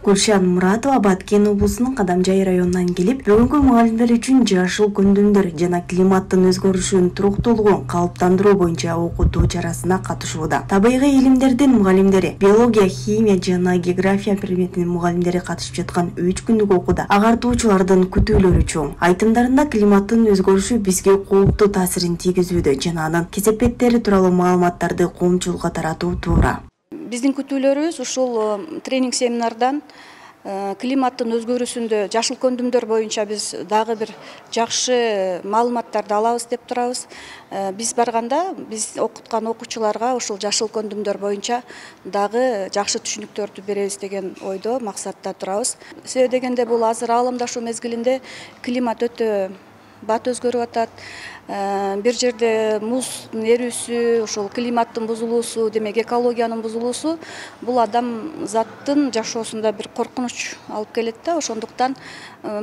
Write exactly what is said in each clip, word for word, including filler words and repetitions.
Гүлшан Муратова Баткен облусунун Кадамжай районунан келип, бүгүнкү мугалимдер үчүн жашыл көндүмдөр жана климаттын өзгөрүшүнүн туруктуулугун калыптандыруу боюнча окутуу чарасына катышууда. Табигый илимдердин мугалимдери, биология, химия жана география предметинин мугалимдери катышып жаткан үч күндүк окууда агартуучулардын күтүүлөрү чоң. Айтымдарында климаттын өзгөрүшү бизге кооптуу таасирин тийгизүүдө жана анын кесепеттери тууралуу маалыматтарды коомчулукка таратуу туура. Биздин күтүүлөрүбүз ушул тренинг семинардан климаттын өзгөрүүсүндө жашыл көндүмдөр боюнча биз дагы бир жакшы маалыматтарды алабыз деп турабыз. Биз барганда биз окуткан окуучуларга ушул жашыл көндүмдөр боюнча дагы жакшы түшүнүктөрдү беребиз деген ойдо, максатта турабыз. Себеби дегенде бул азыр ааламдашуу мезгилинде климат өтө бат өзгөрүп атат. Бир жерде муздун эрүүсү, ушул климаттын бузулуусу, демек экологиянын бузулуусу бул адам заттын жашоосунда бир коркунуч алып келет да. Ошондуктан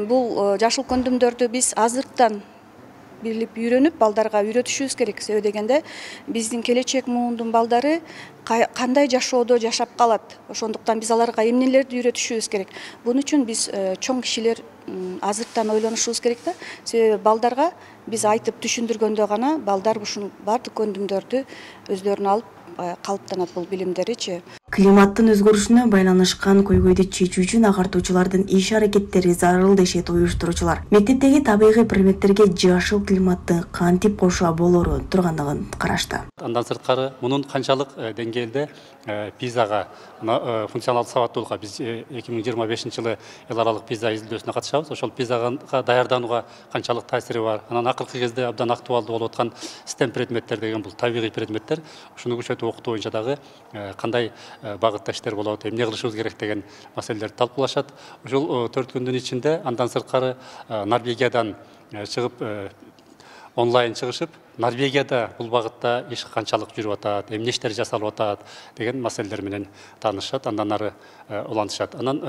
бул жашыл көндүмдөрдү биз азыртан билип үйрөнүп, балдарга үйрөтүшүбүз керек. Себеби дегенде биздин келечек муундун балдары кандай жашоодо жашап калат. Ошондуктан биз аларга эмнелерди үйрөтүшүбүз керек. Бунун үчүн биз чоң кишилер азыртан ойлонушубуз керек да. Себеби балдарга биз айтып түшүндүргөндө гана балдар ушул бардык көндүмдөрдү өздөрүнө алып калыптанат бул билимдеричи. Климаттын өзгөрүшүнө байланышкан көйгөйдү чечүү үчүн агартуучулардын иш аракеттери зарыл дешет уюштуруучулар. Мектептеги табигый предметтерге жашыл климатты кантип кошуа болору тургандыгын карашты. Андан сырткары мунун канчалык деңгээлде пизага, функционалдык сабаттуулукка биз эки миң жыйырма бешинчи жылы эл аралык пиза изилдөөсүнө катышабыз. Ошол пизага даярданууга канчалык таасири бар. Анан акыркы кезде абдан актуалдуу болуп аткан стем предметтер деген бул табигый предметтер. Ушуну күчөтүп окутуу боюнча дагы кандай багытта иштер болот, эмне кылышыбыз керек деген маселелерди талкуулашат. Ушул төрт күндүн ичинде андан сырткары Норвегиядан чыгып онлайн чыгышып, Норвегияда бул багытта иш канчалык жүрүп атат, эмне иштер жасалып атат деген маселелер менен таанышат, андан ары улантышат. Анан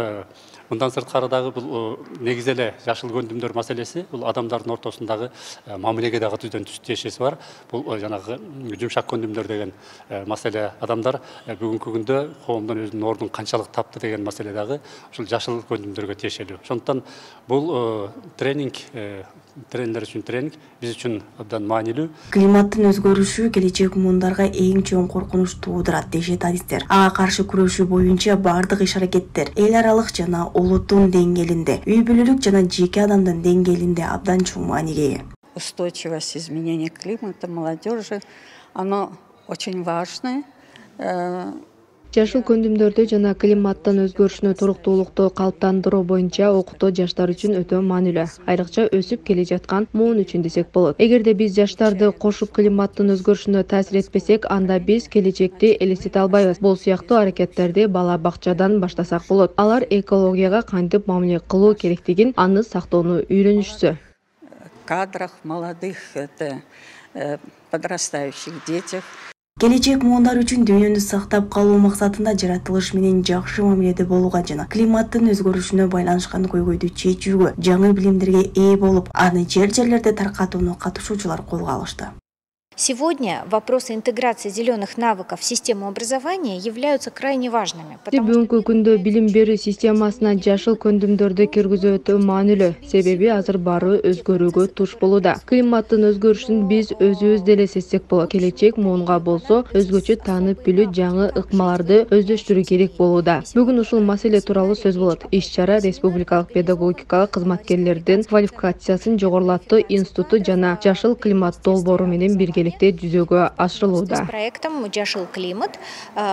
мындан сырткары дагы бул негизи эле жашыл көндүмдөр маселеси бул адамдардын ортосундагы мамилеге дагы түздөн түз тиешеси бар. Бул жанагы жумшак көндүмдөр деген маселе. Адамдар бүгүнкү күндө коомдон өзүнүн ордун канчалык тапты деген маселе дагы ушул жашыл көндүмдөргө тиешелүү. Ошондуктан бул тренинг, тренерлер үчүн тренинг биз үчүн абдан маанилүү. Климаттын өзгөрүшү келечек муундарга эң чоң коркунуч туудурат дешет адистер. Ага каршы күрөшүү боюнча бардык иш аракеттер эл аралык жана улуттун деңгээлинде, үй бүлөлүк жана жеке адамдын деңгээлинде абдан чоң мааниге ээ. Устойчивость изменения климата молодежи, оно очень важное. Жашыл көндүмдөрдү жана климаттын өзгөрүшүнө туруктуулукту калыптандыруу боюнча окутуу жаштар үчүн өтө маанилүү. Айрыкча өсүп келе жаткан муун үчүн десек болот. Эгерде биз жаштарды кошуп климаттын өзгөрүшүнө таасир этпесек, анда биз келечекти элестете албайбыз. Бул сыяктуу аракеттерди бала бакчадан баштасак болот. Алар экологияга кантип мамиле кылуу керектигин, аны сактоону үйрөнүшсү. Кадрах молодых, это подрастающих детях. Келечек муундар үчүн дүйнөнү сактап калуу максатында жаратылыш менен жакшы мамиледе болууга жана климаттын өзгөрүшүнө байланышкан көйгөйдү чечүүгө жаңы билимдерге ээ болуп, аны жер-жерлерде таркатууну катышуучулар колго алышты. Сегодня вопросы интеграции зеленых навыков в систему образования являются крайне важными. Бүгүнкү күндө билим берүү системасына жашыл көндүмдөрдү киргизүү өтө маанилүү. Себеби азыр баары өзгөрүүгө туш болууда. Климаттын өзгөрүшүн биз өзүбүз деле сезсек болот. Келечек муунга болсо өзгөчө таанып билүү, жаңы ыкмаларды өздөштүрүү керек болууда. Бүгүн ушул маселе тууралуу сөз болот. Иш-чара республикалык педагогикалык кызматкерлердин квалификациясын жогорулатуу институту жана жашыл климат долбоору менен бирге жүзөгө ашырылууда. С проектом «Жашыл климат»,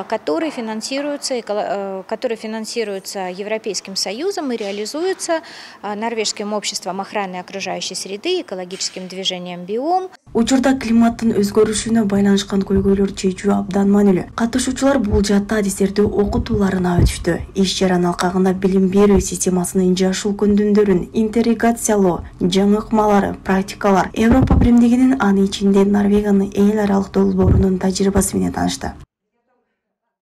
который финансируется, который финансируется Европейским Союзом и реализуется Норвежским обществом охраны окружающей среды, экологическим движением «Биом». Учурда климаттын өзгөрүшүнө байланышкан көйгөйлөр чечүү абдан маанилүү. Катышуучулар бул жатта адистерди окутууларына өтүштү. Иш-чаранын алкагында билим берүү системасынын жашыл көндүмдөрүн интеграциялоо, жаңы ыкмалары, практикалар, Европа биримдигинин аны ичинде Норвегиянын эл аралык долбоорунун тажрыйбасы менен таанышты.